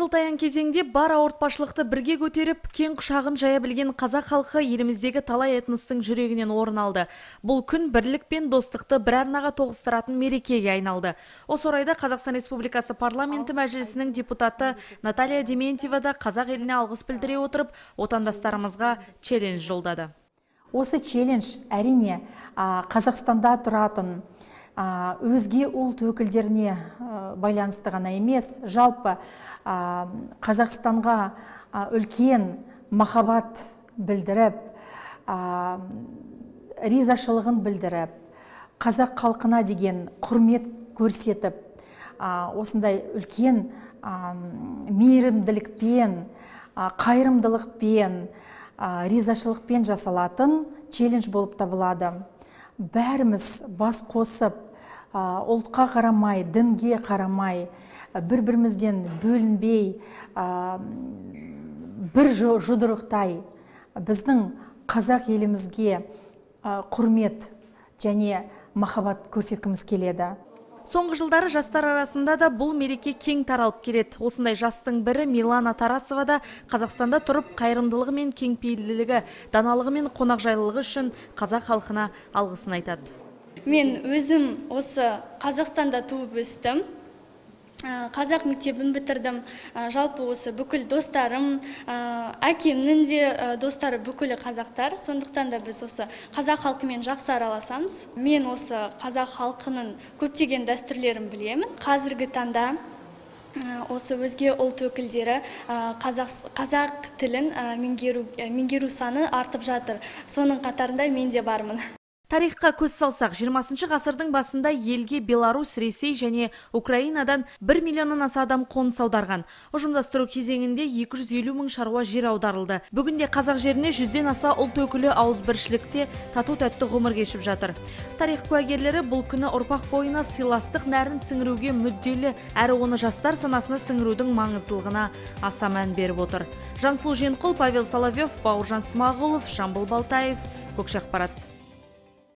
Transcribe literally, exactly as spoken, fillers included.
Қысылтаяң кезеңде бар ауыртпашылықты бірге көтеріп, кең құшағын жая білген қазақ халқы еліміздегі талай этностың жүрегінен орын алды. Бұл күн бірлік пен достықты бір арнаға тоғыстыратын мерекеге айналды. Осы орайда Қазақстан Республикасы парламенті мәжілісінің депутаты Наталья Дементьева да қазақ еліне алғыс білдіре отырып, отандастарымызға челлендж жолдады. Осы челлендж әрине Қазақстанда тұратын өзге ұлт өкілдеріне байланысты ғана емес, жалпы Қазақстанға үлкен махаббат білдіріп, ризашылығын білдіріп, қазақ халқына деген құрмет көрсетіп, осындай үлкен мейірімділікпен, қайырымдылықпен, ризашылықпен жасалатын челлендж болып табылады. Бәріміз бас қосып, ұлтқа қарамай, дінге қарамай, бір-бірімізден бөлінбей, бір жұдырықтай біздің қазақ елімізге құрмет және махаббат көрсеткіміз келеді. Соңғы жылдары жастар арасында да бұл мереке кең таралып келеді. Осындай жастың бірі Милана Тарасова да Қазақстанда тұрып, қайырымдылығы мен кеңпейілділігі, даналығы мен қонақжайлылығы үшін қазақ халқына алғысын айтады. Мен өзім осы Қазақстанда туып өстім. Қазақ мектебін бітірдім. Жалпы осы бүкіл достарым, әкемнің де достары бүкілі қазақтар. Сондықтан да біз осы қазақ халқымен жақсы араласамыз. Мен осы қазақ халқының көптеген дәстүрлерін білемін. Қазіргі таңда осы өзге ұлт өкілдері қазақ тілін меңгеру саны артып жатыр. Соның қатарында мен де бармын. Тарихқа көз салсақ, жиырмасыншы ғасырдың басында елге Беларусь, Ресей және Украинадан бір миллионнан аса адам қоныс аударған. Ұжымдастыру кезеңінде екі жүз елу мың шаруа жер аударылды. Бүгінде қазақ жеріне жүзден аса ұлт өкілі ауызбіршілікте тату-тәтті ғұмыр кешіп жатыр. Тарих куәгерлері бұл күні ұрпақ бойына сыйластық нәрін сіңіруге мүдделі, әрі оны жастар санасына сіңірудің маңыздылығына аса мән беріп отыр. Жансұлу Женқұл, Павел Соловьев, Бауыржан Смағұлов, Жамбыл Балтаев, Көкшақпарат.